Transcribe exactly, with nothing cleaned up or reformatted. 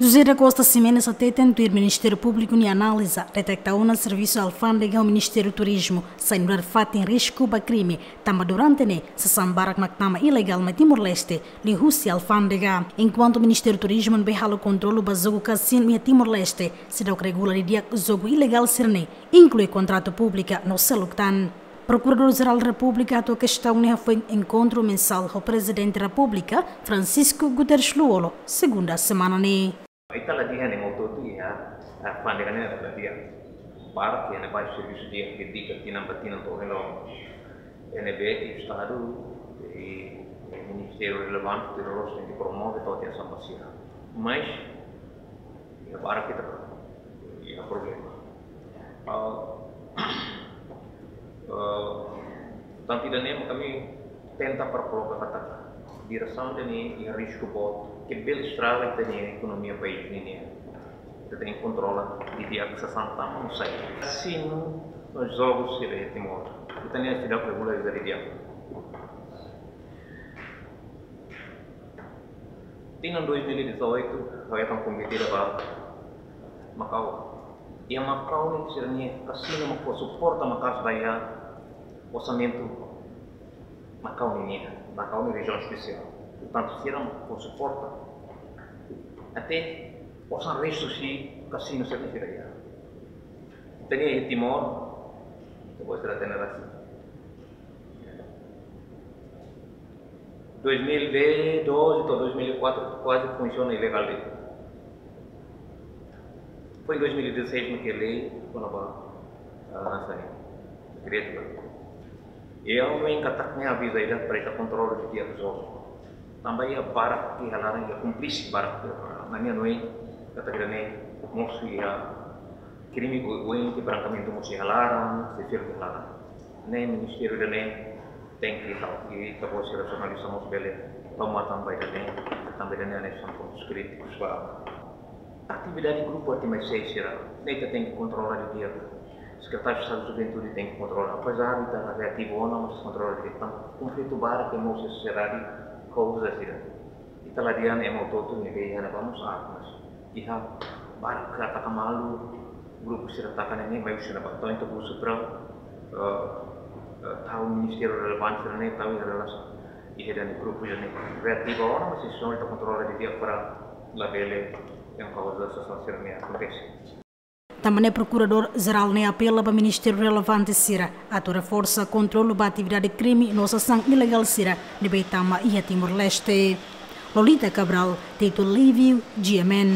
José da Costa Ximenes hateten tuir Ministériu Públiku nia analiza, deteta ona servisu alfándega ho Ministériu Turizmu sai nu'udar fatin risku ba krime, tanba durante ne'e sasán barak mak tama ilegál mai Timor-Leste, liuhusi alfándega. Enkuantu Ministériu Turizmu ne'ebé halo kontrolu ba jogu kasinu iha Timor-Leste, seidauk regula didi'ak jogu ilegál sira-ne'e, inklui kontratu públika no seluk tan. Prokuradór-Jerál Repúblika hato'o kestaun ne'e hafoin enkontru mensál ho Prezidente Repúblika, Francisco Guterres Lú-Olo, segunda semana ne'e. Ita la dehan ema hotu-hotu iha, eh, alfándega ne'e la dehan. Barak iha ne'ebá servisu di'ak ke dika tinan ba tinan to'o hela. Ne'ebé Estadu i, eh, ministériu relevante tenke promove to'o atensaun ba sira. Mas, iha barak ita, iha problema. Ah, ah, tanba ida-ne'e mak ami tenta para koloka katak diresaun ida-ne'e iha risku boot, ke bele estraga ita-nia ekonomia país ninian. Ita tenke kontrola didi'ak sasán tama no sai. Kasinu no jogu sira iha Timor, ita-nia seidauk regula didi'ak. Tinan dois mil e dezoito, ha'u hetan konvite ida ba Makau. Iha Makau ne'e sira-nia kasinu mak fó suporta maka'as ba iha orsamentu Makau ninian, Makau ne'e rejiaun espesiál. Portantu, sira mak fó suporta. Até osan restu husi kasinu sira-ne'e sira iha. Ita-nia iha Timor, ita-boot sira hatene rasik. Dois mil e doze to'o dois mil e quatro kuaze funsiona ilegál de'it. Foin dois mil e dezasseis mak iha lei kona-ba, ah, sai, dekretu ba. I ha'u hanoin katak ne'e avizu ida para ita kontrola didi'ak jogu. Tanba iha barak iha laran, iha kúmplisit barak. Ita hanoin katak ida-ne'e mosu iha krime oioin ke frankamente mosu iha laran, sesir iha laran. Ne'e ministériu ida-ne'e tenke tau, i ita-boot sira jornalista mós bele tau matan ba ida-ne'e, tanba ida-ne'e hanesan pontus krítikus ba atividade grupu arte mais seis sira. Ne'e ita tenke kontrola didi'ak. Sekretáriu Estadu Juventude tenke kontrola. Apezar ita reativu ona, mas kontrola didi'ak. Tanba konflitu barak ke mosu iha sosiedade kauza sira. Ita la dehan ema hotu-hotu ne'ebé iha ne'ebá mós aat, mas iha barak ataka malu, grupu sira ataka ne'e, ne'e mai husi ne'ebá. Entaun ita husu para, eh, eh, tau ministériu relevante sira-ne'e tau iha relasaun iha ida-ne'e, grupu ida-ne'e. Reativa ona, mas ita kontrola didi'ak para labele iha kauza sasán sira-ne'e akontese. Tanba ne'e Prokuradór-Jerál ne'e apela ba ministériu relevante sira atu reforsa kontrolu ba atividade krime no sasán ilegál sira ne'ebé tama iha Timor-Leste. Lolita Cabral, Tito Livio, G M N.